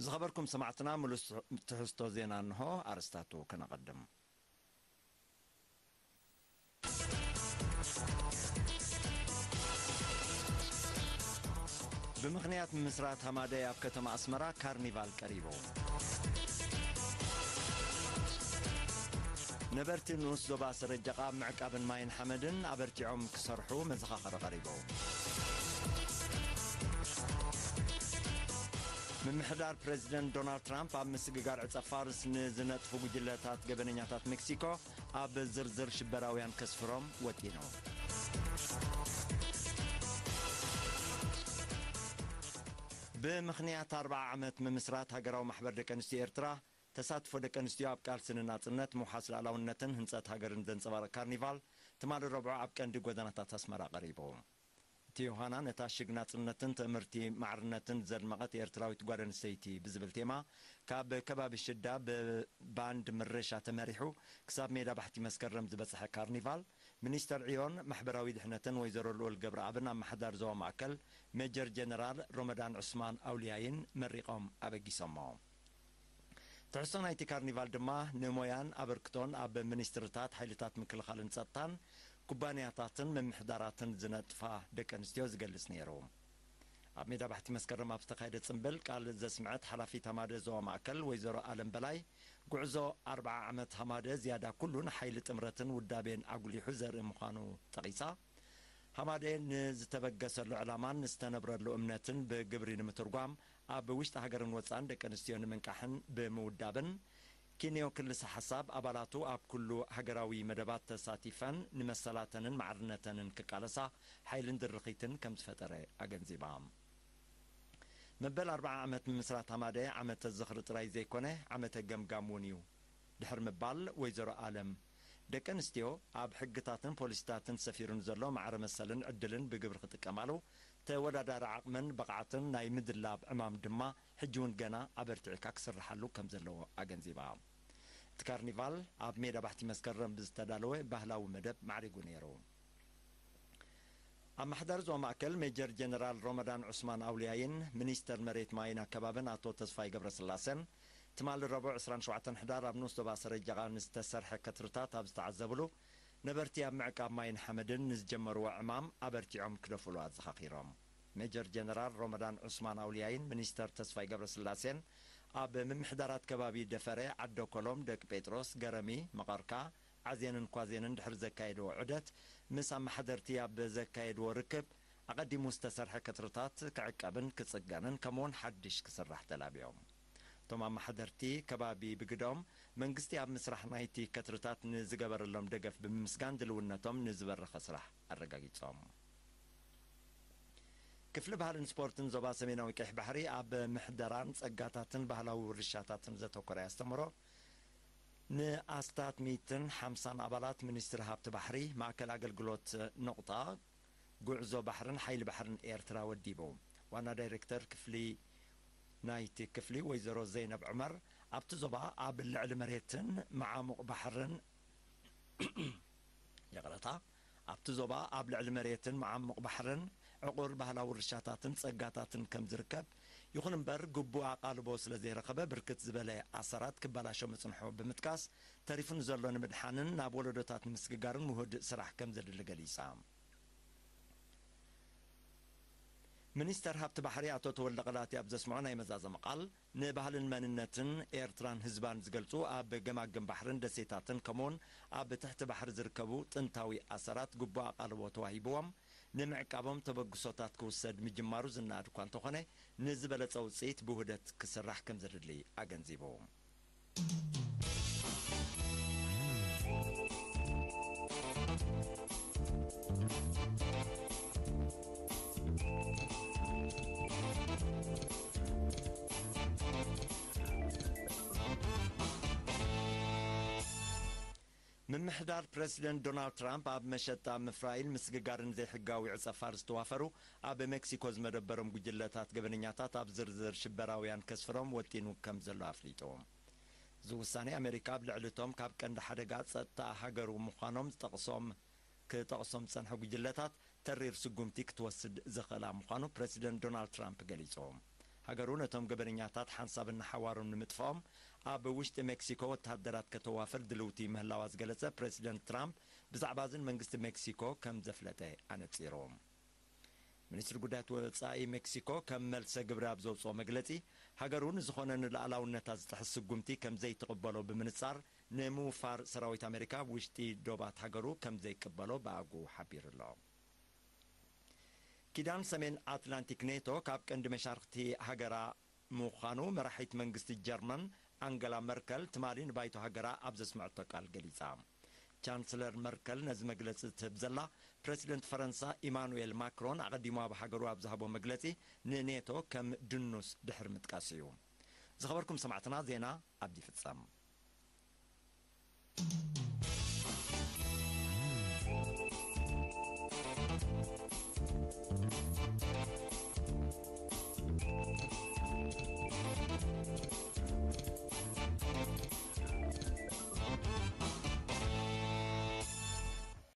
ዝኸበርኩም ሰማዕትና፣ ምሉስ ትሕዝቶ ዜና እንሆ። ኣርስታቱ ከነቐድም። ብምኽንያት ምምስራት ሃማደይ ኣብ ከተማ ኣስመራ ካርኒቫል ቀሪቡ። ነበርቲ ንኡስ ዞባ ሰረጀቓ ኣብ ምዕቃብን ማይን ሓመድን ኣበርቲዖም ክሰርሑ መዘኻኸሪ ቀሪቡ። ምምሕዳር ፕረዚደንት ዶናልድ ትራምፕ ኣብ ምስግጋር ዕጸ ፋርስ ንዝነጥፉ ጉጅለታት ገበነኛታት ሜክሲኮ ኣብ ዝርዝር ሽበራውያን ከስፍሮም ወጢኑ። ብምኽንያት ኣርብዓ ዓመት ምምስራት ሃገራዊ ማሕበር ደቂ ኣንስትዮ ኤርትራ፣ ተሳትፎ ደቂ ኣንስትዮ ኣብ ቃልሲ ንናጽነት፣ ምውሓስ ሉዓላውነትን ህንጸት ሃገርን ዘንጸባርቕ ካርኒቫል ትማሊ ረቡዕ ኣብ ቀንዲ ጎደናታት ኣስመራ ቀሪቡ። እቲ ዮሃና ነታ ሽግ ናጽነትን ትእምርቲ ማዕርነትን ዘድመቐት ኤርትራዊት ጓል ኣንስተይቲ ብዝብል ቴማ፣ ካብ ከባቢ ሽዳ ብባንድ ምረሻ ተመሪሑ ክሳብ ሜዳ ባሕቲ መስከረም ዝበጽሐ ካርኒቫል፣ ሚኒስተር ዕዮን ማሕበራዊ ድሕነትን ወይዘሮ ልኡል ገብረኣብን ኣመሓዳሪ ዞባ ማእከል ሜጀር ጀነራል ሮመዳን ዑስማን ኣውልያይን መሪቖም ኣበጊሶሞ። ትሕዝቶ ናይቲ ካርኒቫል ድማ ንሞያን ኣበርክቶን ኣብ ሚኒስትርታት ሓይልታት ምክልኻልን ጸጥታን ኩባንያታትን ምምሕዳራትን ዝነጥፋ ደቂ ኣንስትዮ ዝገልጽ ነይሩ። ኣብ ሜዳ ባሕቲ መስከረም ኣብ ዝተኻየደ ጽምብል ቃል ዘስምዐት ሓላፊት ሃማደ ዞባ ማእከል ወይዘሮ ኣለም በላይ፣ ጉዕዞ ኣርብዓ ዓመት ሃማደ ዝያዳ ኩሉ ንሓይሊ ጥምረትን ውዳቤን ኣጉሊሑ ዘርኢ ምዃኑ ጠቒሳ፣ ሃማደ ንዝተበገሰሉ ዕላማን ዝተነብረሉ እምነትን ብግብሪ ንምትርጓም ኣብ ውሽጢ ሃገርን ወጻእን ደቂ ኣንስትዮ ንምንቃሕን ብምውዳብን፣ ኪንዮ ክልሰ ሓሳብ ኣባላቱ ኣብ ኩሉ ሃገራዊ መደባት ተሳቲፈን ንመሰላተንን ማዕርነተንን ክቃለሳ ሓይልን ድርኺትን ከም ዝፈጠረ ኣገንዚባ። መበል ኣርብዓ ዓመት ምምስራት ሃማደ ዓመተ ዝኽሪ ጥራይ ዘይኮነ፣ ዓመተ ገምጋም እውን እዩ። ድሕሪ ምባል ወይዘሮ ኣለም፣ ደቂ ኣንስትዮ ኣብ ሕግታትን ፖሊሲታትን ሰፊሩ ንዘሎ ማዕረ መሰልን ዕድልን ብግብሪ ክጥቀማሉ፣ ተወዳዳሪ ዓቕምን ብቕዓትን ናይ ምድላብ ዕማም ድማ ሕጂ እውን ገና ኣበርቲዕካ ክስርሓሉ ከም ዘለዎ ኣገንዚባ። እቲ ካርኒቫል ኣብ ሜዳ ባሕቲ መስከረም ብዝተዳለወ ባህላዊ መደብ ማዕሪጉ ነይሩ። ኣመሓዳሪ ዞባ ማእከል ሜጀር ጀነራል ሮመዳን ዑስማን ኣውልያይን ሚኒስተር መሬት ማይን ኣከባብን ኣቶ ተስፋይ ገብረስላሴን ትማሊ ረቡዕ ዕስራን ሸውዓተን ሕዳር ኣብ ንኡስ ዞባ ሰረጀቓ ንዝተሰርሐ ከትርታት ኣብ ዝተዓዘብሉ፣ ነበርቲ ኣብ ምዕቃብ ማይን ሓመድን ንዝጀመርዎ ዕማም ኣበርቲዖም ክደፍሉ ኣዘኻኺሮም። ሜጀር ጀነራል ሮመዳን ዑስማን ኣውልያይን ሚኒስተር ተስፋይ ገብረስላሴን ኣብ ምምሕዳራት ከባቢ ደፈረ፣ ዓደ ኮሎም፣ ደቂ ጴጥሮስ፣ ገረሚ፣ መቐርካ፣ ዓዜንን ኳዜንን ድሕሪ ዘካየድዎ ዑደት፣ ምስ ኣመሓደርቲ ኣብ ዘካየድዎ ርክብ፣ ኣቐዲሙ ዝተሰርሐ ከትርታት ክዕቀብን ክጽገንን ከምኡውን ሓድሽ ክስራሕ ተላብዮም። እቶም ኣመሓደርቲ ከባቢ ብግደኦም፣ መንግስቲ ኣብ ምስራሕ ናይቲ ከትርታት ንዝገበረሎም ደገፍ ብምምስጋን ድልውነቶም ንዝበረኸ ስራሕ ኣረጋጊጾም። ክፍሊ ባህልን ስፖርትን ዞባ ሰሜናዊ ቀይሕ ባሕሪ ኣብ ምሕደራን ጸጋታትን ባህላዊ ውርሻታትን ዘተኮረ ኣስተምህሮ ንኣስታት ሚእትን ሓምሳን ኣባላት ሚኒስትሪ ሃብቲ ባሕሪ፣ ማእከል ኣገልግሎት ነቑጣ፣ ጉዕዞ ባሕርን ሓይሊ ባሕርን ኤርትራ ወዲቡ። ዋና ዳይሬክተር ክፍሊ ናይቲ ክፍሊ ወይዘሮ ዘይነብ ዑመር፣ ኣብቲ ዞባ ኣብ ልዕሊ መሬትን መዓሙቕ ባሕርን፣ ይቕረታ፣ ኣብቲ ዞባ ኣብ ልዕሊ መሬትን መዓሙቕ ባሕርን ዕቑር ባህላዊ ውርሻታትን ጸጋታትን ከም ዝርከብ፣ ይኹን እምበር ግቡእ ኣቓልቦ ስለ ዘይረኸበ ብርክት ዝበለ ኣሰራት ክበላሾ ምጽንሑ ብምጥቃስ፣ ተሪፉ ንዘሎ ንምድሓንን ናብ ወለዶታት ንምስግጋርን ውሁድ ስራሕ ከም ዘድሊ ገሊጻ። ሚኒስተር ሃብቲ ባሕሪ ኣቶ ተወልደ ቐላቲ ኣብ ዘስምዖ ናይ መዛዘሚ ቃል፣ ንባህልን መንነትን ኤርትራን ህዝባን ዝገልጹ ኣብ ገማግም ባሕርን ደሴታትን ከምኡውን ኣብ ትሕቲ ባሕሪ ዝርከቡ ጥንታዊ ኣሰራት ግቡእ ኣቓልቦ ተዋሂብዎም ንምዕቃቦም ተበግሶታት ክውሰድ ምጅማሩ ዝነኣድ እኳ እንተኾነ፣ ንዝበለጸ ውጽኢት ብውህደት ክስራሕ ከም ዘድሊ ኣገንዚቡ። ምምሕዳር ፕረሲደንት ዶናልድ ትራምፕ ኣብ መሸጣ ምፍራይን ምስግጋርን ዘይሕጋዊ ዕጸ ፋርስ ዝተዋፈሩ ኣብ ሜክሲኮ ዝመደበሮም ጉጅለታት ገበነኛታት ኣብ ዝርዝር ሽበራውያን ከስፍሮም ወጢኑ ከም ዘሎ ኣፍሊጡ። እዚ ውሳኔ ኣሜሪካ ኣብ ልዕሊ እቶም ካብ ቀንዲ ሓደጋ ጸጥታ ሃገሩ ምዃኖም ዝጠቕሶም ክጠቕሶም ዝጸንሐ ጉጅለታት ተሪር ስጉምቲ ክትወስድ ዝኽእላ ምዃኑ ፕረሲደንት ዶናልድ ትራምፕ ገሊጹ። ሃገሩ ነቶም ገበነኛታት ሓንሳብን ንሓዋሩን ንምጥፋኦም ኣብ ውሽጢ ሜክሲኮ ወተሃደራት ከተዋፍር ድልውቲ ምህላዋ ዝገለጸ ፕሬዚደንት ትራምፕ፣ ብዛዕባ ዝን መንግስቲ ሜክሲኮ ከም ዘፍለጠ ኣነጺሩ። ሚኒስትሪ ጉዳያት ወጻኢ ሜክሲኮ ከም መልሰ ግብሪ ኣብ ዘውጽኦ መግለጺ፣ ሃገሩ ንዝኾነ ንልኣላውነታ ዝጥሕስ ስጉምቲ ከም ዘይትቕበሎ ብምንጻር፣ ንምውፋር ሰራዊት ኣሜሪካ ኣብ ውሽጢ ዶባት ሃገሩ ከም ዘይቅበሎ ብኣግኡ ሓቢሩ ኣሎ። ኪዳን ሰሜን ኣትላንቲክ ኔቶ ካብ ቀንዲ መሻርክቲ ሃገራ ምዃኑ መራሒት መንግስቲ ጀርመን ኣንገላ መርከል ትማሊ ንባይቶ ሃገራ ኣብ ዘስምዐቶ ቃል ገሊጻ። ቻንስለር መርከል ነዚ መግለጺ ትህብ ዘላ፣ ፕረሲደንት ፈረንሳ ኢማኑኤል ማክሮን ኣቐዲሙ ኣብ ሃገሩ ኣብ ዝሃቦ መግለጺ፣ ንኔቶ ከም ድኑስ ድሕሪ ምጥቃስ እዩ። ዝኸበርኩም ሰማዕትና፣ ዜና ኣብዚ ይፍጸም።